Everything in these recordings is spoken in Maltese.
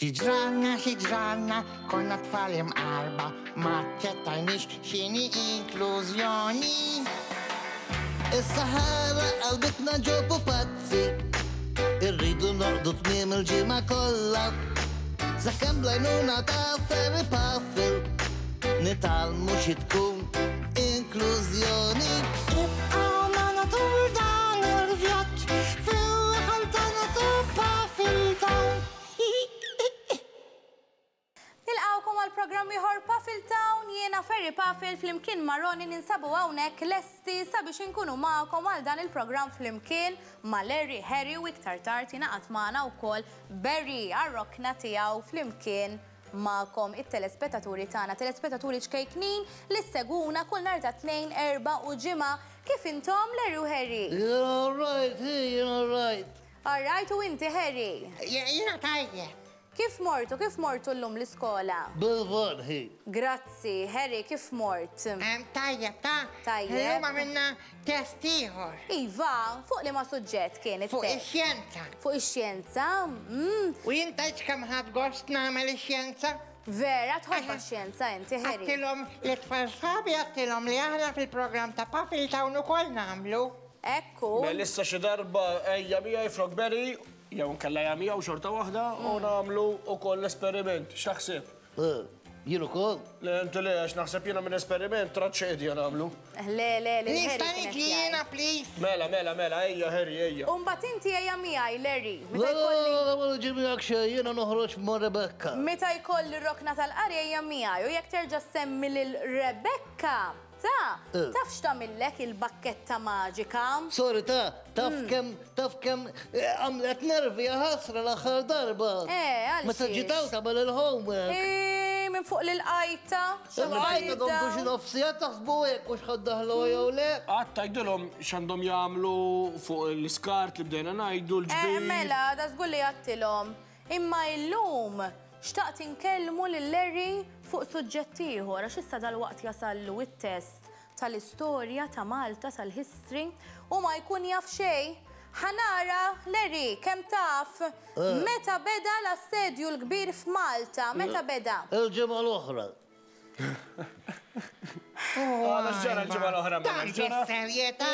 Xi ġralna, xi ġralna, konna tfal imqarba, ma aċċettajniex x'inhi inklużjoni. Is-Sahara qalbitna ġo pupazzi, irridu norqdu tmiem il-ġimgħa kollha. Sakemm bl-għajnuna ta' Ferry Puffle nitgħallmu xi tkun inklużjoni. Ibqgħu magħna tul dan il-vjaġġ fil-raħal tagħna ta' Puffle Town. Nilqgħukom għal programm ieħor Puffle Town, jiena Ferry Puffle flimkien ma' Ronnie ninsabu hawnhekk lesti sabiex inkunu magħkom għal dan il-programm flimkien ma' Larry, Harry u iktar tard jingħaqad magħna wkoll Barry għar-rokna tiegħu flimkien magħkom it-telespettaturi tagħna, telespettaturi ċkejknin li ssegwuna kull nhar ta' Tnejn, Erbgħa u Ġimgħa. Kif intom Larry u Harry? Jien alright, hi, jien alright. All right u inti Harry? Jiena tajjeb. Kif mortu, kif mortu llum l-iskola? Bil-van hi. Grazzi, Harry kif mort? Tajjeb ta. Tajjeb. Illum għamilna test ieħor. Iva, fuq liema suġġett kien it-test? Fuq ix-xjenza. Fuq ix-xjenza? Mm. U jien tgħidx kemm ħadt gost nagħmel ix-xjenza? Vera, tħobbha x-xjenza inti, Harry? Għedtilhom lit-tfal sħabi għedtilhom li aħna fil-programm ta' Puffle Town ukoll nagħmlu. Hekk hu. Mela issa xi darba ejja miegħi Frogberry, jew inkella ejja miegħu xorta waħda u nagħmlu wkoll esperiment. X'taħseb? Eh, jien ukoll? Le, inti le, għax naħseb jiena minn esperiment traċedja nagħmlu. Le, le, le. Nista' niġi jiena, please? Mela, mela, mela, ejja Harry, ejja. U mbagħad inti ejja miegħi, Larry. Le, le, le, ma niġi miegħek xejn, jiena noħroġ ma' Rebecca. Meta jkolli r-rokna tal-qari ejja miegħi u jekk terġa' ssemmi lil Rebecca, Ta, taf x'tagħmillek il-bakketta maġika? Sorry ta, taf kemm, taf kemm għamlet nervi ħasra l-aħħar darba. Eh, għal Meta ġiet hawn tagħmel il-homework. Eh, minn fuq l-qajta. Il-qajta domtu xi nofs siegħa taħsbu hekk u x'ħa ddaħħluha jew le. Qatt tgħidilhom x'għandhom jagħmlu fuq l-iskart li bdejna ngħidu l-ġbir. Eh, mela, da żgur li għedtilhom. Imma illum xtaqt inkellmu lil Larry fuq suġġett ieħor għax issa dalwaqt jasallu t-test tal-istorja ta' Malta tal-history u ma jkun jaf xejn. Ħa nara, Larry, kemm taf meta beda l-Assedju l-Kbir f'Malta, meta beda? Il-ġimgħa l-oħra. Għala x'ġara l-ġimgħa l-oħra mela x'ġara? Bis-serjetà?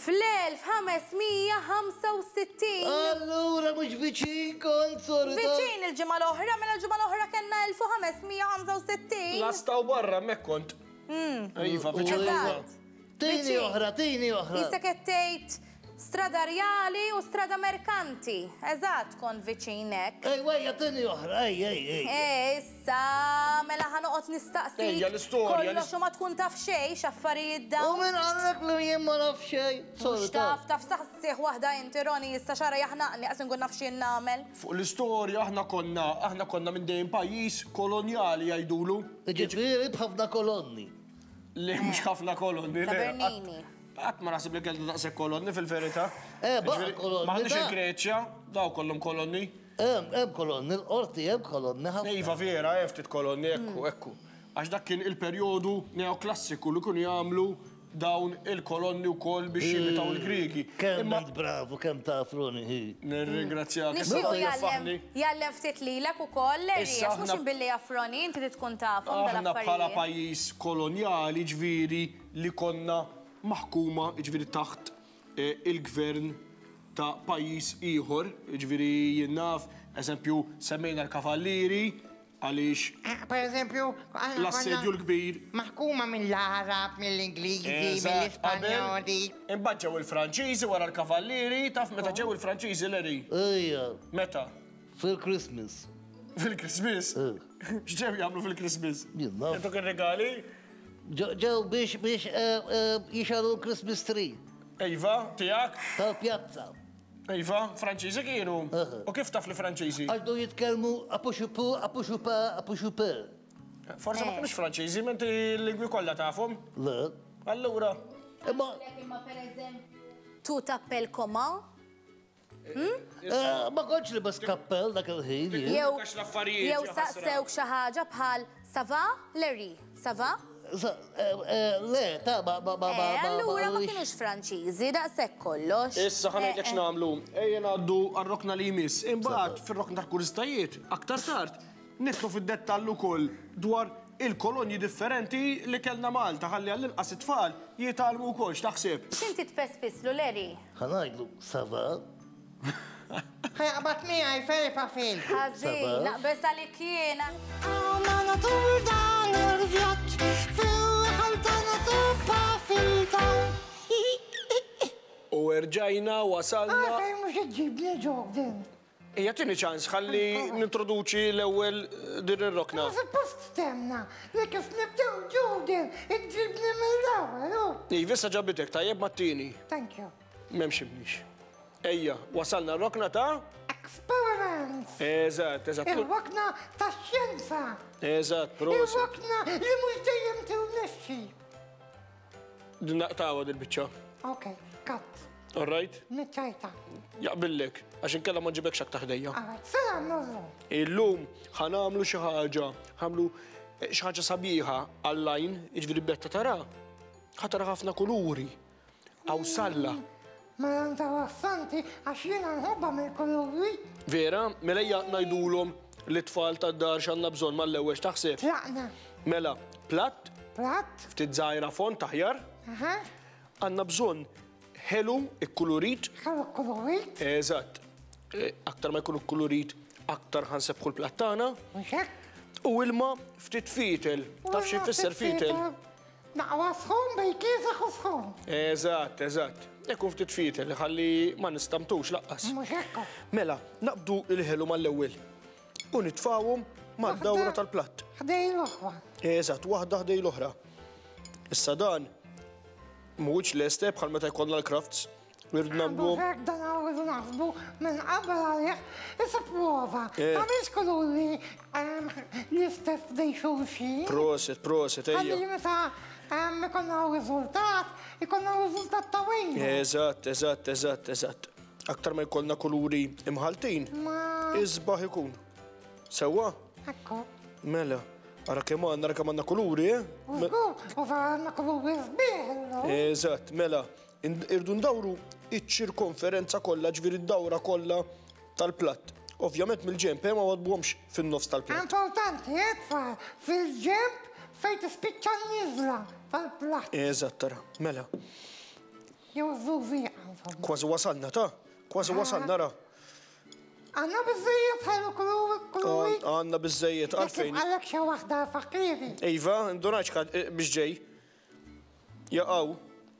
Fl-1565. Allura mhux viċin kont sorry. Viċin il-ġimgħa l-oħra, mela l-ġimgħa l-oħra kellna 1565. Lasta u barra hemmhekk kont. Iva, viċin. Eżatt. Tini oħra, tini oħra. Qisek qed tgħid Strada Rjali u Strada Merkanti. Eżatt kont viċin hekk. Ejwa ejja tini oħra, ej ej ej. Eh issa mela ħa noqgħod nistaqsik. Ejja l-istorja. Kollox u ma tkun taf xejn x'affarijiet dawn. U min qallek li jien ma naf xejn? Mhux taf, taf saqsih waħda inti Ronnie issa xara jaħnaqni qas inkun naf x'jien nagħmel. Fuq l-istorja aħna konna, aħna konna minn dejjem pajjiż kolonjali jgħidulu. Jiġifieri b'ħafna kolonni. Le mhux ħafna kolonni. Ta' Bernini. Qatt ma naħseb li kellna daqshekk kolonni fil-verità. Eh, baqa' kolonni. M'aħniex il-Greċja, daw kollhom kolonni. Hemm, hemm kolonni, l-qorti hemm kolonni ħafna. Iva vera, hemm ftit kolonni, ekku, ekku. Għax dak kien il-perjodu neoklassiku li kienu jagħmlu dawn il-kolonni wkoll biex jimitaw il-Griegi. Kemm int bravu, kemm taf Ronnie hi. Nirringrazzjak. Nixtiequ jgħallem, jgħallem ftit lilek ukoll, Larry, għax mhux billi jaf Ronnie, inti trid tkun tafhom dal-affarijiet. Aħna bħala pajjiż kolonjali, ġifieri li konna maħkuma, jiġifieri taħt il-gvern ta' pajjiż ieħor, jiġifieri jien naf, eżempju, semmejna l-Kavallieri għaliex Pereżempju, aħna konna l-Assedju l-Kbir. Maħkuma mill-Għarab, mill-Ingliżi, mill-Ispanjoli. Imbagħad ġew il-Franċiżi wara l-Kavallieri, taf meta ġew il-Franċiżi, Larry? Ejja. Meta? Fil-Christmas. Fil-Christmas? X'ġew jagħmlu fil-Christmas? Jien naf. Jagħtuk ir-rigali? Ġew biex biex jixgħelu l-Christmas tree. Iva, tiegħek? Tal-pjazza. Iva, Franċiżi kienu? U kif taf li Franċiżi? Għax bdew jitkellmu apuxupu, apuxupa, apuxupe. Forsi ma kinux Franċiżi, ma inti l-lingwi kollha tafhom? Le. Allura. Imma. Imma pereżempju, tu t'appelles comment? Eh, ma kontx libes kappell dak il-ħin. Jew jew saqsewk xi ħaġa bħal ça va, Larry, ça va? Le, ta' ma ma ma ma. Eh, allura ma kinux Franċiżi, daqshekk kollox. Issa ħa ngħidlek x'nagħmlu. Ejja ngħaddu għar-rokna li jmiss. Imbagħad fir-rokna tal-kurżitajiet, aktar tard, nidħlu fid-dettall ukoll dwar il-kolonji differenti li kellna Malta ħalli għall-inqas it-tfal jitgħallmu wkoll. X'taħseb? X'inti tpespislu, Larry? Ħa ngħidlu, ça va? Ħa jaqbad miegħi Ferry Pafil. Ħażin, naqbeż għalik jiena. Għamana tul dan il-vjaġġ fil-ħal tagħna ta' Pafil Town. U erġajna wasalna. Għalfejn mhux iġġibni Jordan? Ejja tini ċans ħalli nintroduċi l-ewwel din ir-rokna. Ma suppost temna li kif nibdew Jordan iġġibni mill-ewwel u. Iva issa ġabitek tajjeb mat-tieni. Thank you. M'hemmx imniex. Ejja, wasalna r-rokna ta'? Experiments! Eżatt, eżatt. Ir-rokna tax-xjenza. Eżatt, proset. Ir-rokna li mhux dejjem tirnexxi. Din naqtgħuha dil-biċċa. Ok, cut. All right? Niċċajta. Jaqbillek, għax inkella ma nġibekx aktar ħdejja. All right, se nagħmlu llum? Illum ħa nagħmlu xi ħaġa, ħamlu xi ħaġa sabiħa għall-għajn, jiġifieri betta tara, ħa tara ħafna kuluri. Qawsalla. Mela interessanti għax jiena nħobbha mill-kuluri. Vera? Mela ejja ngħidulhom lit-tfal tad-dar x'għandna bżonn mal-ewwel x'taħseb? Tlaqna. Mela, platt. Platt. Ftit żgħira fond aħjar. Aha. Għandna bżonn ħelu ikkulurit. Ħelu kkulurit. Eżatt. Aktar ma jkun ikkulurit, aktar ħa nsebbħu l-platt tagħna. Mhux hekk? U ilma ftit fietel. Taf xi jfisser fietel? Naqwa sħun bejn kiesaħ u sħun. Eżatt, eżatt. Ikun ftit fietel ħalli ma nistamtux laqqas. Mhux hekk. Mela, naqbdu l-ħelu mal-ewwel u nitfgħuhom mad-dawra tal-platt. Ħdej l-oħra. Eżatt, waħda ħdej l-oħra. Issa dan mhuwiex lest eh, bħal meta jkollna l-crafts. Irridu nagħmluhom. Mhux hekk dan irridu naħsbu minn qabel għalih. Issa prova, tagħmilx kuluri l-istess ħdejn xulxin. Proset, proset, ejja. Ħalli meta ikollna riżultat, ikollna riżultat ta' wejn. Eżatt, eżatt, eżatt, eżatt. Aktar ma jkollna kuluri imħaltin, isbaħ ikun. Sewwa? Ekku. Mela, ara kemm għandna, ara kemm għandna kuluri, eh? U żgur, u vera għandna kuluri sbieħ illum. Eżatt, mela. Irdu ndawru iċ-ċirkonferenza kollha, ġifieri d-dawra kollha tal-platt. Ovvjament mill-ġenb, eh, ma waddbuhomx fin-nofs tal-platt. Importanti, eh, tfal, fil-ġenb fejn tispiċċa n-niżla tal-platt. Eżatt, ara, mela. Jew żużieqa, insomma. Kważi wasalna, ta? Kważi wasalna, ara. Għandna biżżejjed ħelu kuluri? Għandna biżżejjed, għalfejn. Jekk tibqalek xi waħda fakirni. Iva, ndunajtx biex ġej. Jaqaw.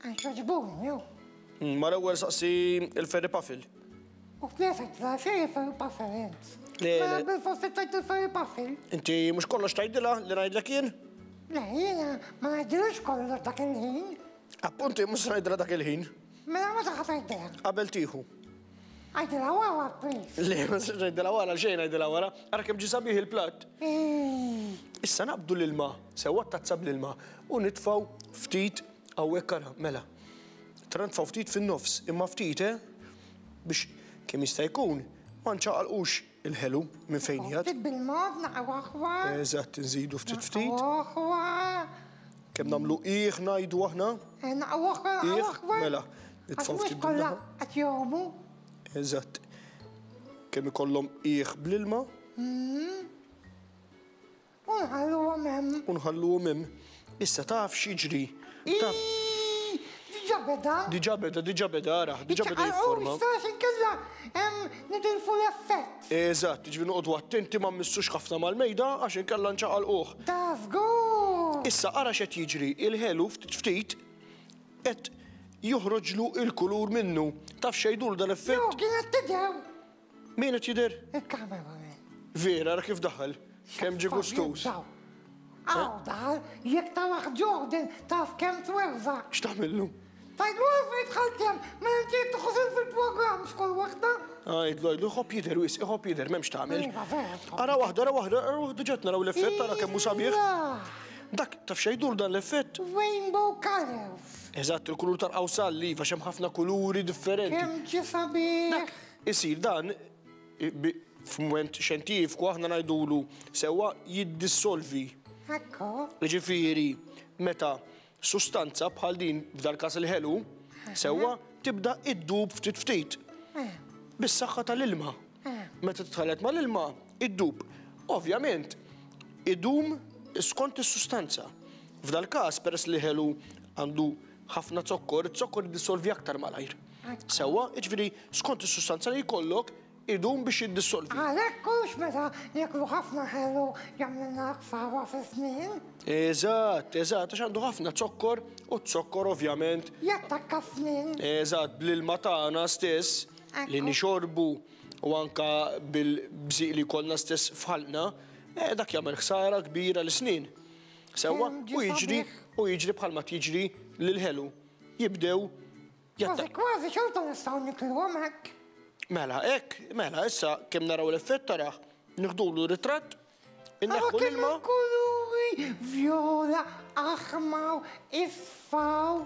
Għax jogħġbuni, hu. Mal-ewwel saqsi il-Ferry Puffle. U kif tgħidilha xejn il-Ferry Puffle int? Le, le. Mela bilfors trid tgħid il-Ferry Puffle. Inti mhux kollox tgħidilha li ngħidlek jien? Le, jiena ma ngħidilhiex kollox dak il-ħin. Appunti mhux se ngħidilha dak il-ħin. Mela meta ħa tgħidilha? Qabel tieħu. Għidilha wara, please. Le, ma nistax ngħidilha wara, xejn ngħidilha wara. Ara kemm ġie sabiħ il-platt. Issa naqbdu l-ilma, sewwa t-tazza bl-ilma, u nitfgħu ftit hawnhekk ara, mela. Tra nitfgħu ftit fin-nofs, imma ftit, eh? Biex kemm jista' jkun ma nċaqalqux il-ħelu minn fejn qiegħed. Ftit bil-mod, naqgħu aħwa. Eżatt, inżidu ftit ftit. Naqgħu aħwa. Kemm nagħmlu qiegħ ngħidu aħna? Eh, naqgħu aħwa, naqgħu aħwa. Mela, nitfgħu ftit kollha qed jgħumu. Eżatt. Kemm ikollhom qiegħ bl-ilma. U nħalluhom hemm. U nħalluhom hemm. Issa taf x'jiġri. Taf. Diġà beda. Diġà beda, diġà beda, ara, diġà beda jifforma. Iċċaqalqu inkella nitilfu l-effett. Eżatt, jiġifieri noqogħdu attenti ma mmissux ħafna mal-mejda għax inkella nċaqalquh. Ta' żgur! Issa ara x'qed jiġri, il-ħelu ftit ftit qed joħroġlu l-kulur minnu. Taf x'jgħidulu dal-effett? Jo, kien qed tidher. Min qed jidher? Il-cameraman. Vera, ara kif daħal. Kemm ġie gustuż. Hawn daħal, jekk tarah Jordan taf kemm twerżaq. X'tagħmillu? Tgħidlu għalfejn dħalt hemm mela inti qed tieħu sehem fil-programm x'kull waħda. Għidlu, għidlu, iħobb jidher wisq, iħobb jidher, m'hemmx tagħmel. Iva, vera. Ara waħda, ara waħda, ara waħda ġa qed naraw l-effett, ara kemm hu sabiħ. Dak, taf x'jgħidulu dan l-effett? Rainbow colours. Eżatt, il-kulur tal-qawsall, iva, għax hemm ħafna kuluri differenti. Kemm ġie sabiħ. Dak isir dan f'mument xjentifiku aħna ngħidulu sewwa jiddissolvi. Ekku. Jiġifieri, meta sustanza bħal din, f'dal-każ il-ħelu, sewwa, tibda iddub ftit ftit. Bis-saħħa tal-ilma. Meta titħallat mal-ilma, iddub. Ovvjament, idum skont is-sustanza. F'dal-każ, peress li ħelu għandu ħafna zokkor, iz-zokkor jiddissolvi aktar malajr. Sewwa, jiġifieri skont is-sustanza li jkollok, idum biex jiddissolvi. Għalhekk hux meta nieklu ħafna ħelu jagħmlilna ħsara fis-snien. Eżatt, eżatt, għax għandu ħafna zokkor u z-zokkor ovvjament. Jattakka s-snien. Eżatt, bl-ilma tagħna stess li nixorbu u anka bil-bżieq li jkollna stess f'ħalqna, eh, dak jagħmel ħsara kbira lis-snien. Sewwa, u jiġri u jiġri bħalma jiġri lill-ħelu. Jibdew Kważi kważi xorta nistgħu nikluhom hekk. Mela hekk, mela issa kemm naraw l-effett tarah, nieħdulu ritratt, inneħħu l-ilma. Kuluri vjola, aħmar, isfar.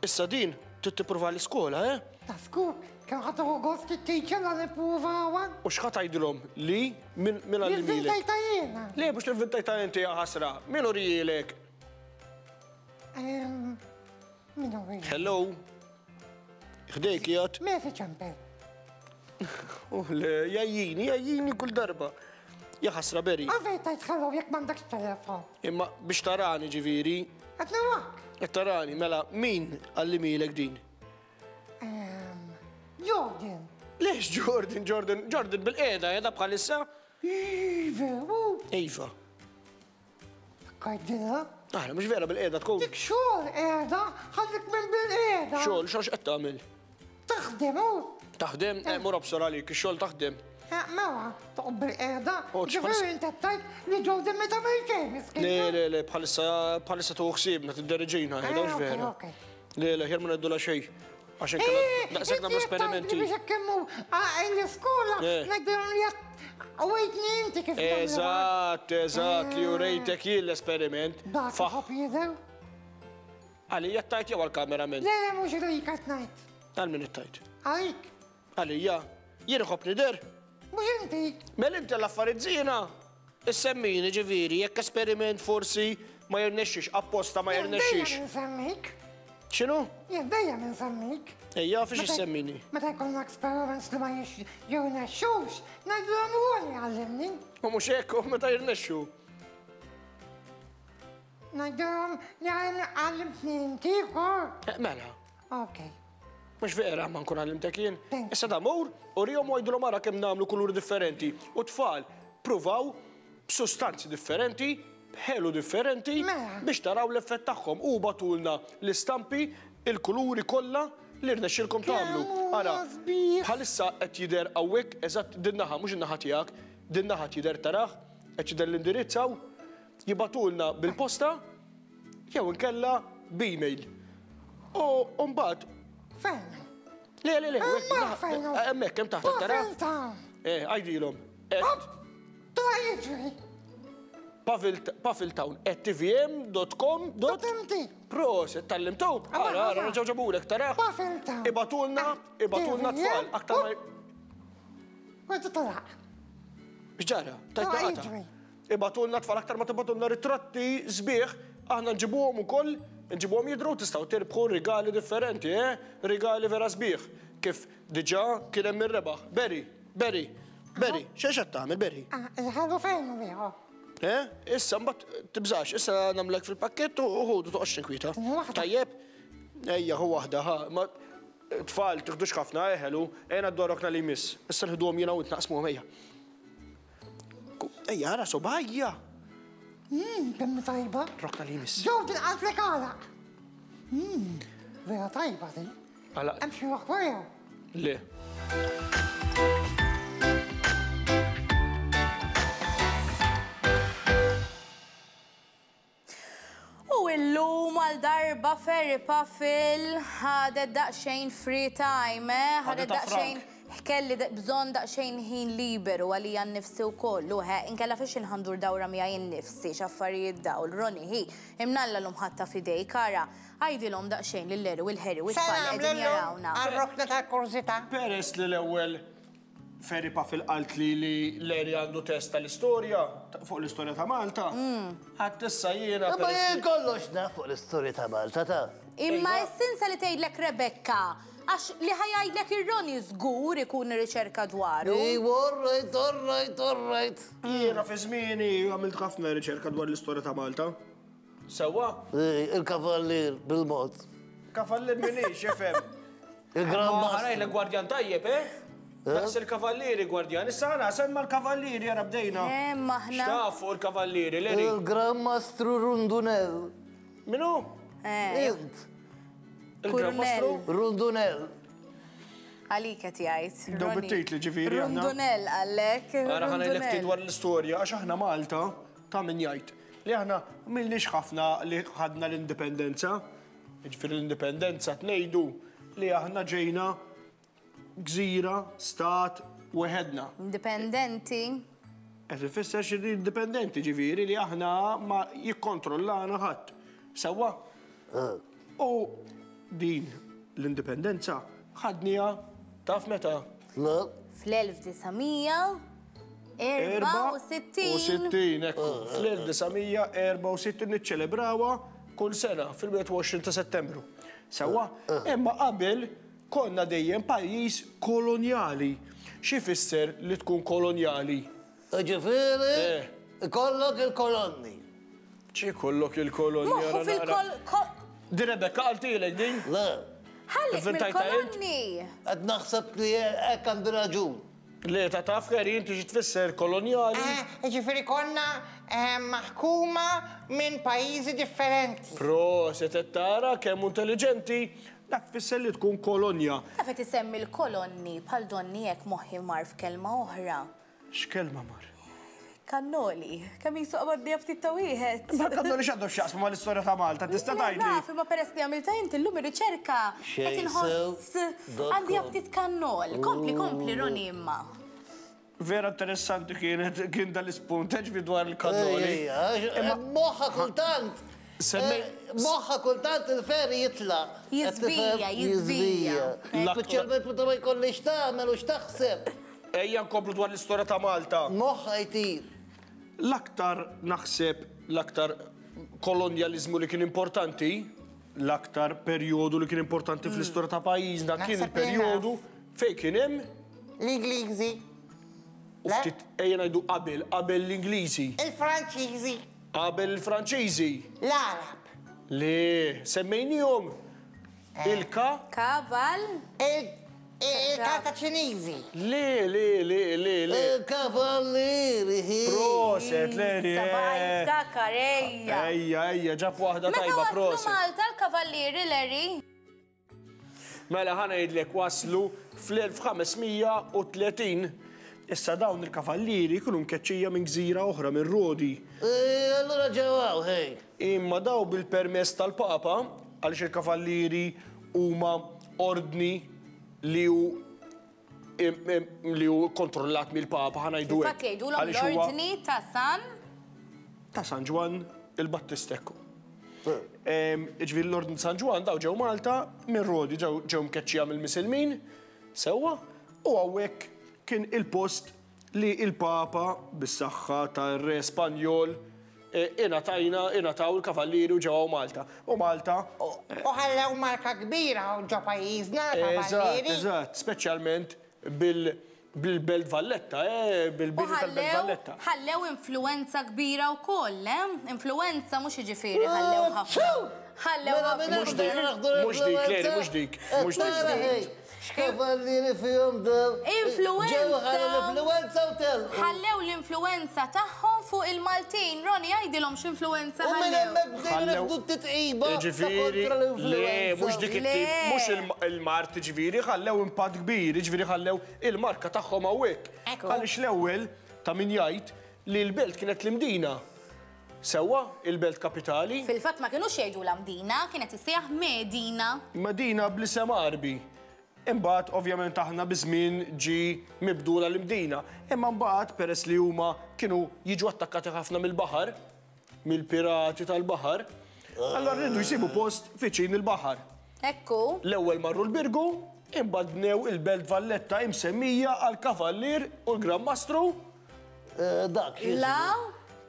Issa din trid tipprova l-iskola, eh? Ta' żgur, kemm ħa tieħu gost it-teacher la nippruvawha. U x'ħa tgħidilhom li min għallimhielek? Li vvintajtha jiena. Le mhux li vvintajtha inti ja ħasra, min urihielek? Min hu wieħed? Hello. Ħdejk qiegħed. Meta ċempel. Oh le, jajjini, jajjini kull darba. Ja ħasra beri. Għalfejn tajt hello jekk m'għandekx telefon. Imma biex tarani ġifieri. Qed narak. Qed tarani, mela min għallimilek din? Jordan. Lex Jordan, Jordan, Jordan bil-qiegħda qiegħda bħalissa? Veru. Iva. Kajdilha. Aħna mhux vera bil-qiegħda tkun. Dik xogħol qiegħda, ħallik minn bil-qiegħda. Xogħol, xogħol x'qed tagħmel? Taħdem hu. Taħdem, eh, mur obsor għalik, ix-xogħol taħdem. Eh, mela, toqgħod bil-qiegħda. Ġifieri inti tgħid li Jordan meta ma jkejn miskin. Le, le, le, bħalissa bħalissa tuħu ħsiebna tidderġina, eh, mhux vera. Le, le, ħjar ma ngħidulha xejn. Għax inkella eh, daqshekk nagħmlu esperimenti. Biex hekk kemm hu l-iskola ngħidilhom li Għawajtni inti kif Eżatt, eżatt, li urejtek jien l-esperiment. Dak ħobb jidher. Għalija tajt jew għal-kamerament? Le, le, mhux għalik qed ngħid. Għal min tajt? Għalik. Għalija, jien iħobb nidher. Mhux inti. Mela inti l-affarijiet żiena. Issemmini ġifieri, jekk esperiment forsi ma jirnexxix, apposta ma jirnexxix. Jien dejjem insemmik. X'inhu? Jien dejjem insemmik. Ejja, fiex issemmini? Meta jkollna experiments li ma jirnexxux, ngħidilhom Ronnie għallimni. U mhux hekk, u meta jirnexxu? Ngħidilhom li għallimtni inti wkoll. Eh, mela. Ok. Mhux vera ma nkun għallimtek jien. Issa da mur, urihom u għidilhom ara kemm nagħmlu kuluri differenti. U tfal, pruvaw b'sustanzi differenti, b'ħelu differenti Mela. biex taraw l-effett tagħhom. U bagħtulna l-istampi, il-kuluri kollha li rnexxielkom tagħmlu. Kemm Ara, huma sbieħ. bħalissa qed jidher hawnhekk eżatt din naħa, mhux in-naħa tiegħek, din naħa qed jidher tarah, qed jidher l-indirizz hawn. Jibagħtulna bil-posta jew inkella b'email. U mbagħad Fejn? Le, le, le, Hemmhekk fejn hu. hemmhekk hemm taħt tara. Pavilta. Eh, għajdilhom. Hop! Tla jiġri. Paviltown at tvm.com Dot MT. Proset, tallimtu. Ara, ara, reġgħu ġabulek, taraħ. Paviltown. Ibatulna, ibatulna tfal, aktar ma. Għadu talaq. X'ġara? Tajt naqata. Ibagħtulna tfal aktar ma tibagħtulna ritratti sbieħ, aħna nġibuhom ukoll, nġibuhom jidhru tistgħu tirbħu rigali differenti, eh? Rigali vera sbieħ. Kif diġà kien hemm min rebaħ. Barry, Barry, Barry, x'għex qed tagħmel Barry? Ah, il-ħelu fejn hu ieħor? Eh? Issa mbagħad tibżax, issa nagħmlek fil-pakkett u ħudu toqgħodx tinkwieta. Tajjeb? Ejja, ħu waħda, ħa. Ma tfal tiħdux ħafna, eh, ħelu, ejja ngħaddu għar-rokna li jmiss. Issa nħiduhom jiena u int naqsmuhom ejja. Ejja, ara sobajja. Mmm, kemm tajba. Rokna li jmiss. Ġew tinqaltlek għalaq. Mmm, vera tajba din. Għalaq. Hemm xi waħda Le. U illum għal darba Ferry Puffle ħadet daqsxejn free time, eh? Ħadet daqsxejn kelli bżonn daqsxejn ħin liberu għalija nnifsi wkoll, u he, inkella fiex inħandur dawra miegħi nnifsi x'affarijiet dawl, Ronnie, hi, imnalla llum ħadtha f'idejk, ara, għidilhom daqsxejn lil Larry u l-Harry u t-tfal li Salam qegħdin lillum jarawna. għar-rokna tal-kurżità. Peress li l-ewwel. Ferry Puffle qaltli li Larry għandu test tal-istorja, fuq l-istorja ta' Malta, għadt issa jiena. Imma jien kollox naf fuq l-istorja ta' Malta ta'. Imma s-sinsa li tgħidlek Rebecca, għax li ħa jgħidlek ir-Ronnie żgur ikun irriċerka dwaru. Iwa, all right, all right, all right. Jiena fi żmieni għamilt ħafna riċerka dwar l-istorja ta' Malta. Sewwa? Il-kavallier bil-mod. Kavallier minix, ifhem. Il-Gran Mastru. Ħarajlek gwardjan tajjeb, eh? Daqs il-kavallieri gwardjan. Issa ħana semma l-kavallieri ara bdejna. Eh, maħna. X'taf fuq il-kavallieri, Larry? Il-Gran Mastru Rundunell. Minu? Eh. Int. Il-Gran Mastru? Rundunell. Għalik qed jgħid. Daw bit-titli ġifieri aħna. Rundunell għalek. Ara ħana ftit dwar l-istorja għax aħna Malta ta' min jgħid li aħna m'ilniex ħafna li ħadna l-indipendenza. Jiġifieri l-indipendenza tnejdu li aħna ġejna gżira, stat, weħedna. Indipendenti. Qed ifisser xi indipendenti ġifieri li aħna ma jikkontrollana ħadd. Sewwa? U din l-indipendenza ħadniha taf meta? Le. Fl-1900 64. 64, ekku. Fl-1964 niċċelebrawha kull sena fil-21 ta' Settembru. Sewwa? Imma qabel konna dejjem pajjiż kolonjali. Xi jfisser li tkun kolonjali? Jiġifieri ikollok il-kolonni. X'ikollok il-kolonni? Moħħu fil-kol. Di Rebecca qaltilek din? Le. Ħallik mill-kolonni. Qed naħseb li hekk għandi raġun. Le, ta' taf Harry inti xi tfisser kolonjali? Jiġifieri konna maħkuma minn pajjiżi differenti. Proset qed tara kemm hu intelliġenti? Dak tfisser li tkun kolonja. Taf qed isemmi l-kolonni bħal donni hekk moħħi mar f'kelma oħra. X'kelma mar? Kannoli. Kemm qisu qabadniha ftit ta' wieħed. Ma l-kannoli x'għandhom x'jaqsmu mal-istorja ta' Malta, tista' tgħidli? Naf, imma peress li għamiltha inti llum ir-riċerka qed inħoss għandi aptit kannol. Kompli, kompli Ronnie imma. Vera interessanti kienet kien dal-ispunt ġbi dwar il-kannoli. Imma moħħa kultant. Moħħa kultant il-ferri jitlaq. Jiżvija, jiżvija. Speċjalment meta ma jkollix tagħmel u x'taħseb. Ejja nkomplu dwar l-istorja ta' Malta. Moħħha jtir. L-aktar naħseb l-aktar kolonjaliżmu li kien importanti, l-aktar perjodu li kien importanti fl-istorja ta' pajjiżna kien il-perjodu fejn kien hemm l-Ingliżi. U ftit ejja ngħidu qabel, qabel l-Ingliżi. Il-Franċiżi. Qabel il-Franċiżi. L-Għarab. Le, semmejnihom Il-ka? Kaval. Il-karta ċiniżi. Le, le, le, le, le. Il-kavallieri. Proset, Leri. Sabaj, jiftakar, ejja. Ejja, ejja, ġab waħda tajba, proset. Meta waslu Malta l-kavallieri, Leri? Mela ħa ngħidlek waslu fl-1530. Issa dawn il-kavallieri kienu mkeċċija minn gżira oħra, minn Rodi. Allura ġew hawn, ħej. Imma daw bil-permess tal-Papa, għaliex il-kavallieri huma ordni li hu li hu kontrollat mill-Papa, ħa ngħidu hekk. Infatti jgħidulhom l-ordni ta' San ta' San Ġwann il-Battista ekku. Ġifieri l-ordni ta' San Ġwann daw ġew Malta minn Rodi ġew mkeċċija mill-Misilmin sewwa u hawnhekk kien il-post li l-Papa bis-saħħa tar-Re Spanjol ingħatajna, ingħataw il-Kavallieri u ġew hawn Malta. U Malta. U ħallew marka kbira hawn ġo pajjiżna l-Kavallieri. Eżatt, eżatt, speċjalment bil-Belt Valletta, bil-bini tal-Belt Valletta. Ħallew influwenza kbira wkoll, eh? Influwenza mhux jiġifieri ħallew ħafna. Ħallew ħafna. Mhux dik, mhux dik, Clary, mhux dik, mhux dik. X'kavallieri fihom dawn! Influwenza! Ġew ħallew l-influwenza u telqu. Ħallew l-influwenza tagħhom fuq il-Maltin. Ronnie, għidilhom x'influwenza U minn ħallew. hemmhekk bdejna nieħdu t-titqiba ta' Jiġifieri, kontra le, l-influwenza. mhux dik it-tip, mhux il-mard, jiġifieri ħallew impatt kbir, jiġifieri ħallew il-marka tagħhom hawnhekk. Għaliex l-ewwel ta' min jgħid li l-belt kienet l-Imdina. Sewwa, il-belt kapitali. Fil-fatt ma kinux jgħidulha Mdina, kienet issejjaħ Medina. Medina bl-isem Għarbi. Imbagħad ovvjament aħna biż-żmien ġie mibdula l-Imdina. Imma mbagħad peress li huma kienu jiġu attakkati ħafna mill-baħar, mill-pirati tal-baħar, allura riedu jsibu post viċin il-baħar. Hekk hu. L-ewwel marru l-Birgu. Imbagħad bnew il-Belt Valletta imsemmija għall-Kavallier u l-Gran Mastru. Dak. La.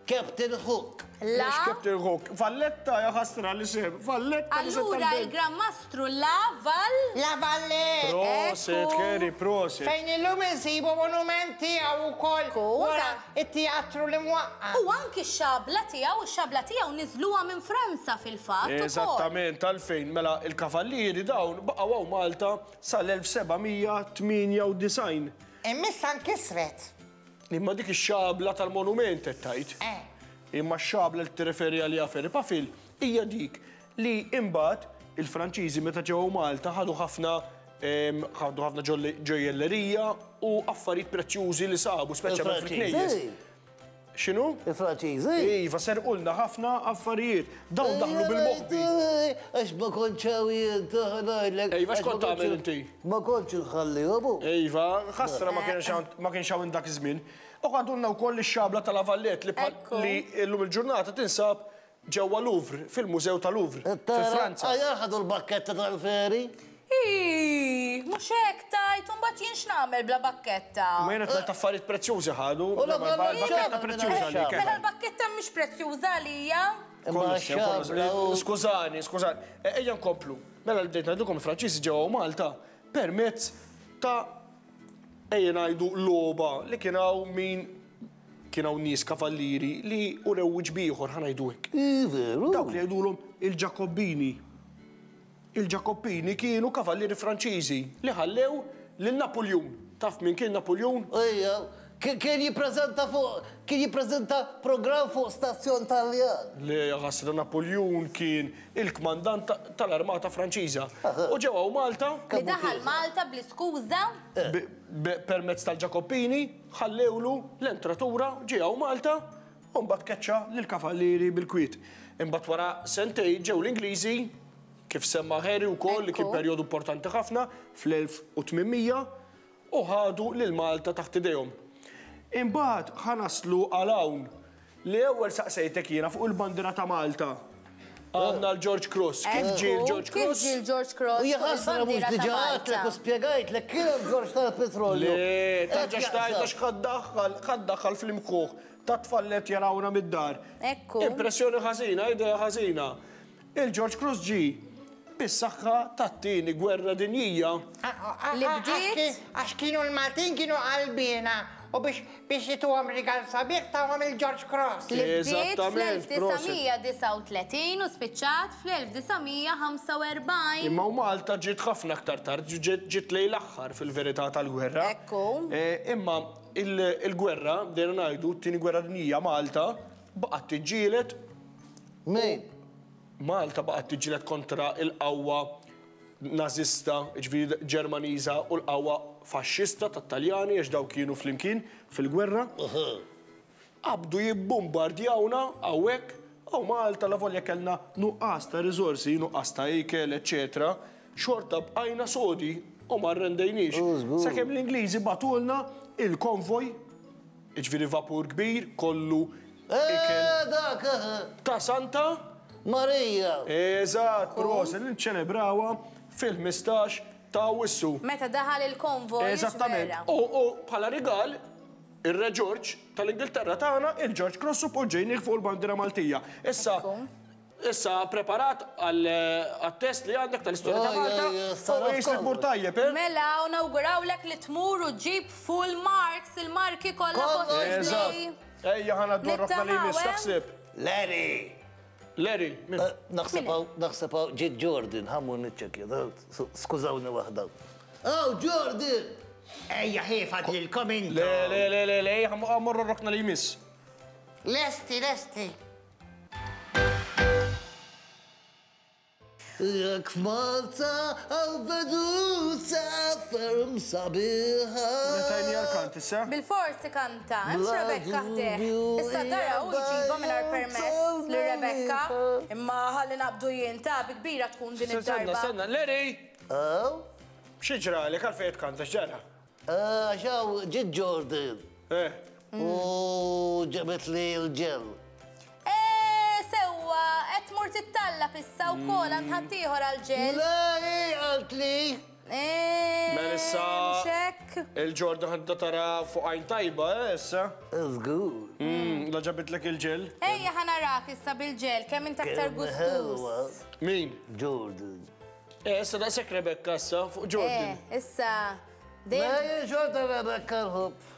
Captain Hook. La. Mhux Captain Hook. Valletta ja ħasra l-isem. Valletta l-isem Allura tal-belt. il-Gran Mastru La Val. La Valletta. Proset, Ekku. Kerry, proset. Fejn illum insibu monument tiegħu wkoll Ekku, wara anka- it-teatru li mwaqqa'. U anki x-xabla tiegħu, ix-xabla tiegħu niżluha minn Franza fil-fatt ukoll. Eżattament, għalfejn, mela il-kavallieri dawn baqgħu hawn Malta sal-1798. Imma issa nkisret. Imma dik ix-xabla tal-monument qed tgħid. Eh. Imma x-xabla li tirreferi għaliha Ferry Pafil hija dik li imbagħad il-Franċiżi meta ġew Malta ħadu ħafna ħadu ħafna ġojjellerija u affarijiet prezzjużi li sabu, speċjalment fil-knejjes. Il-Franċiżi. X'inhu? Il-Franċiżi. Iva, serqulna ħafna affarijiet. Dawn daħlu bil-moħbi. Għax ma kontx hawn jien, ngħidlek. Iva, x'kont tagħmel inti? Ma kontx inħallihom. Iva, ħasra ma kienx hawn ma kienx hawn dak iż-żmien. U ħadulna wkoll ix-xabla tal-Avallet li Ekku. li llum il-ġurnata tinsab ġewwa Louvre, fil-Mużew ta' Louvre, fi Franza. Ajar ħadu l-bakketta tal-feri. Ih, mhux hekk tajt, u mbagħad jien x'nagħmel bla bakketta? Ma jiena qed affarijiet prezzjużi ħadu. U la L-bakketta prezzjuża għalik. Mela l-bakketta mhix prezzjuża għalija. Imma Kollox sew, kollox xabla sew. u. Skużani, skużani. E, Ejja nkomplu. Mela li bdejt ngħidilkom il-Franċiżi ġew Malta permezz ta' ejja ngħidu logħba li kien hawn min kien hawn nies kavallieri li urew wiċċ b'ieħor ħa ngħidu hekk. Ih, veru. Dawk li jgħidulhom il-Ġakobbini. Il-Ġakobbini kienu kavallieri Franċiżi li ħallew lil Napuljun. Taf min kien Napuljun? Ejja, kien jippreżenta fuq kien jippreżenta programm fuq stazzjon Taljan. Le, ħasra Napuljun kien il-kmandant tal-armata Franċiża. U ġew hawn Malta Li daħal Malta bl-iskuża. permezz tal-Ġakobbini ħallewlu l-entratura ġie hawn Malta u mbagħad keċċa lill-kavallieri bil-kwiet. Imbagħad wara sentejn ġew l-Ingliżi kif semma Harry wkoll li kien perjodu importanti ħafna fl-1800 u ħadu lil Malta taħt idejhom. Imbagħad ħa naslu għal hawn li ewwel saqsejtek jiena fuq il-bandiera ta' Malta. Għandna l-George Cross. Kif ġie l-George Kif Cross? ġie l-George Cross? Hija ħasra mhux diġà għedtlek u spjegajtlek kien hemm George tal-petrolju. Le, tarġa' xtajt għax ħa ddaħħal fl-imħuħ ta' tfal li qed jarawna mid-dar. Ekku. Impressjoni ħażina, idea ħażina. Il-George Cross ġie bis-saħħa tat-tieni gwerra dinjija. Li bdiet? Għax kienu l-Maltin kienu qalbina u biex biex jituhom rigal sabiħ tawhom il-George Cross. Li bdiet Eżattament, proset. fl-1939 u spiċċat fl-1945. Imma u Malta ġiet ħafna aktar tard, ġiet ġiet lejn l-aħħar fil-verità tal-gwerra. Ekku. Imma il-gwerra, bdejna ngħidu, t-tieni gwerra dinjija Malta baqgħet tiġġieled. Min? Malta baqgħet tiġġieled kontra il-qawwa nażista, jiġifieri Ġermaniża u l-qawwa faxxista tat-Taljani għax dawk kienu flimkien fil-gwerra. Qabdu jibbombardjawna hawnhekk u Malta la volja kellna nuqqas ta' riżorsi, nuqqas ta' ikel, eċċetera, xorta bqajna sodi u ma rrendejniex. Sakemm l-Ingliżi bagħtulna il-konvoj, jiġifieri vapur kbir, kollu ikel. Dak, Ta' Santa Marija. Eżatt, proset, li nċelebrawha fil-15 ta' Awwissu. Meta daħal il-konvoj, Eżattament. vera. U bħala rigal, ir-Re George tal-Ingilterra tagħna il-George Cross u poġġejnih fuq il-bandiera Maltija. Issa, issa preparat għal-test li għandek tal-istorja ta' Malta, u jisir tmur tajjeb, eh? Mela, u nawgurawlek li tmur u ġib full marks, il-marki kollha possibbli. Eżatt. Ejja ħana d-dorra f'tal jmiss, taħseb. Larry! Larry, min? Naħseb hawn, naħseb hawn, ġiet Jordan, ħammur niċċekkja, skużawni waħda. Aw, Jordan! Ejja, ħifad lilkom intom. Le, le, le, le, le, ejja, ħammorru r-rokna li jmiss. Lesti, lesti. Jekk f'Malta hawn veduta ferm sabiħa. Tajni għal-kant issa? Bil-fors ikanta, hemmx Rebecca ħdejh. Issa dara u jġibha mingħajr permess li Rebecca, imma ħalli naqbdu jien ta' bi kbira tkun din Stenna, id-darba. stenna, Larry! Aw? Xi ġralek għalfejn tkanta x'ġara? Għax hawn ġiet Jordan. Eh. U ġabet li l-ġel. Eh, sewwa, qed tmur tittallab issa wkoll għand ħaddieħor għall-ġel. Le, hi qaltli. Mela issa. Mhux hekk? Il-Ġordan ħa tibda tara fuq għajn tajba, eh, issa. Żgur. La ġabitlek il-ġel. Ejja ħa narak issa bil-ġel, kemm int aktar gustuż. Min? Jordan. Eh, issa daqshekk Rebecca issa fuq Jordan. Eh, issa. Dejjem Jordan Rebecca nħobb.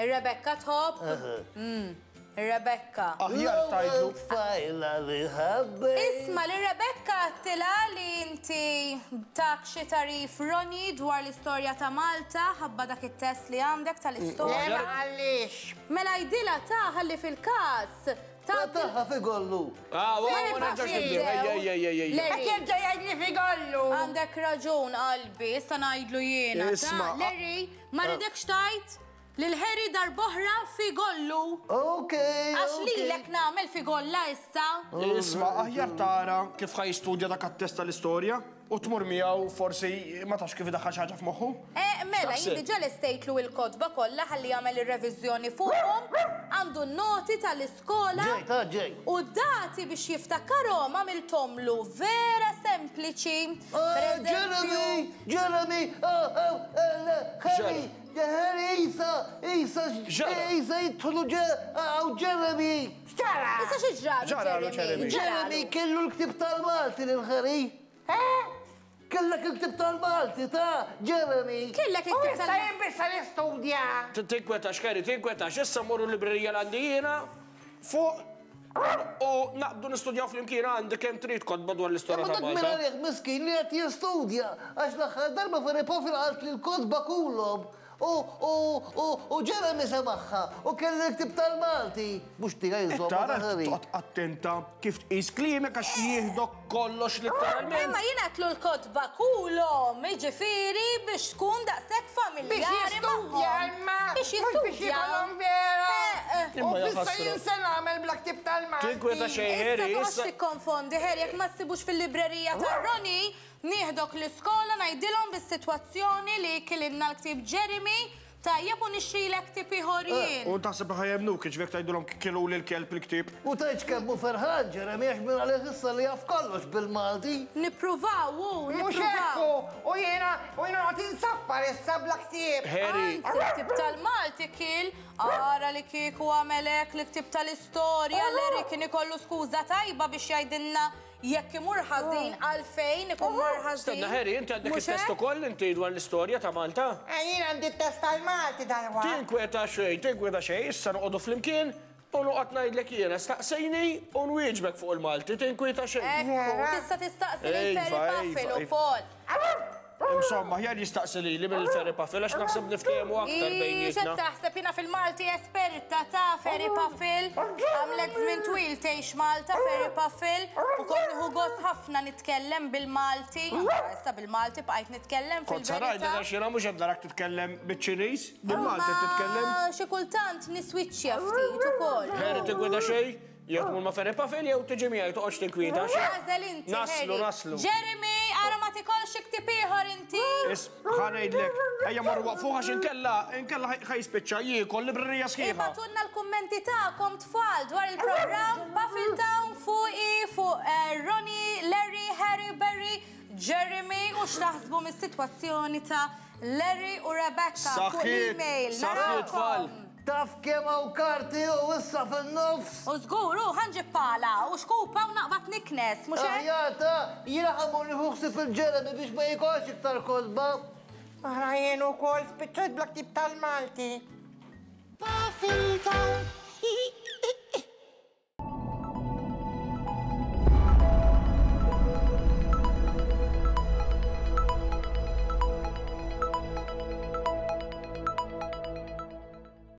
Ir-Rebecca tħobb? Ir-Rebecca. Aħjar tgħidlu. Tfajla li ħabbejt. Isma' li Rebecca għedtilha li inti tak xi tagħrif Ronnie dwar l-istorja ta' Malta ħabba dak it-test li għandek tal-istorja. Le ma qallix. Mela għidilha ta' ħalli fil-każ ta' Taħħa fi gollu. Ah, wa ma nerġgħux nibdew. Ejja, ejja, ejja, ejja. Qed jerġa' jgħidli fi gollu. Għandek raġun qalbi, issa ngħidlu jiena. Isma'. Larry, ma rridekx tgħid Lil Harry darb'oħra fi gollu. Ok, Għax lilek nagħmel fi golla issa. Isma' aħjar tara kif ħa jistudja dak għat-test tal-istorja u tmur miegħu forsi ma tafx kif idaħħal xi ħaġa f'moħħu. Eh, mela, jien diġà lestejtlu il-kotba kollha ħalli jagħmel ir-reviżjoni fuqhom, għandu n-noti tal-iskola. Ġej, ta' ġej. U d-dati biex jiftakarhom għamilthomlu vera sempliċi. Ah, Jeremy, Jeremy, ah, ah, Harry, Harry, Isa, Isa, Isa jidħlu għaw Jeremy. X'ġara? Issa xi ġralu Jeremy? Jeremy kellu l-ktib tal-Malti lil Harry. Eh? Kellek il-ktib tal-Malti ta' Jeremy. Kellek il-ktib tal-Malti. U issa jien biss nistudja. Tinkwetax, Harry, tinkwetax. Issa mmorru l-librerija l-għandi jiena fuq U naqbdu nistudjaw flimkien għandi kemm trid kotba dwar l-istorja ta' Imma dak Malta. min għalih miskin li qed jistudja għax l-aħħar darba Ferry Pofil qaltli l-kotba kulhom u u u u Jeremy semagħha u kelli l-ktieb tal-Malti. Mhux tiegħi insomma ta' Tara Harry. toqgħod attenta kif tqis kliemek għax jieħdok kollox litteralment. Imma jien għedtlu l-kotba kulhom, jiġifieri biex tkun daqshekk familjari Biex jistudja imma. Biex Mhux biex jistudja. jkollhom vera. Imma U ja issa ħasra. jien se nagħmel bla ktieb tal-Malti. Tinkweta xejn Issa Harry, toqgħodx issa. tikkonfondi Harry jekk ma ssibux fil-librerija ta' Ronnie, nieħdok l-iskola ngħidilhom bis-sitwazzjoni li kilinna l-ktieb Jeremy, tajjeb u nixtrilek ktieb ieħor jien. U taħseb li ħa jemmnuk, jiġifieri jekk tgħidulhom kiluli l-kelb il-ktieb. U tgħidx kemm hu ferħan Jeremy għax minn għalih issa li jaf kollox bil-Malti. Nippruvaw hu, Mhux hekk nippruvaw. hu, u jiena u jiena noqgħod insaffar issa bla ktieb. Harry. Anzi, l-ktieb tal-Malti kiel, ara li kieku għamel hekk l-ktieb tal-istorja, Larry kien ikollu skuża tajba biex jgħidilna jekk imur ħażin għalfejn ikun mar ħażin. Stenna Harry, inti għandek it-test ukoll inti dwar l-istorja ta' Malta? Eh, jien għandi t-test tal-Malti dalwaqt. Tinkweta xejn, tinkweta xejn, issa noqogħdu flimkien u noqgħod ngħidlek jiena, staqsejni u nwieġbek fuq il-Malti, tinkweta xejn. Ekku, tista' tistaqsi lil Ferry Puffle ukoll. Insomma, aħjar jistaqsi lili milli Ferry Puffle għax naħseb niftehmu aktar bejnietna. X'qed taħseb jiena fil-Malti esperta ta' Ferry Puffle. Għamlet żmien twil tgħix Malta Ferry Puffle u kont nieħu gost ħafna nitkellem bil-Malti. Issa bil-Malti bqajt nitkellem Kont sa fil-verità. ngħidlek għax jiena mhux qed narak titkellem biċ-Ċiniż, bil-Malti qed titkellem. Imma xi kultant niswiċċja ftit ukoll. Harry tinkweta xejn? Jew tmur ma' Ferry Puffin jew tiġi miegħi toqgħodx tinkwieta. Għażel inti. Naslu, naslu. Jeremy, ara ma tikolx xi ktieb ieħor inti. Is, ħa ngħidlek, ejja morru waqfuh għax inkella, inkella ħa jispiċċa jiekol librerija sħiħa. Ibgħatulna l-kummenti tagħkom tfal dwar il-programm Puffin Town fuqi, fuq eh, Ronnie, Larry, Harry, Barry, Jeremy u x'taħsbu mis-sitwazzjoni ta' Larry u Rebecca fuq l-email. Saħħiet tfal. Taf kemm hawn karti u issa fin-nofs. U żgur, hu, ħa nġib pala u xkupa u naqbad niknes, mhux hekk? Aħjar ta, jiena ħa mmur nieħu ħsieb il-Jeremy biex ma jikolx iktar kotba. Ara jien ukoll spiċċajt bla ktieb tal-Malti.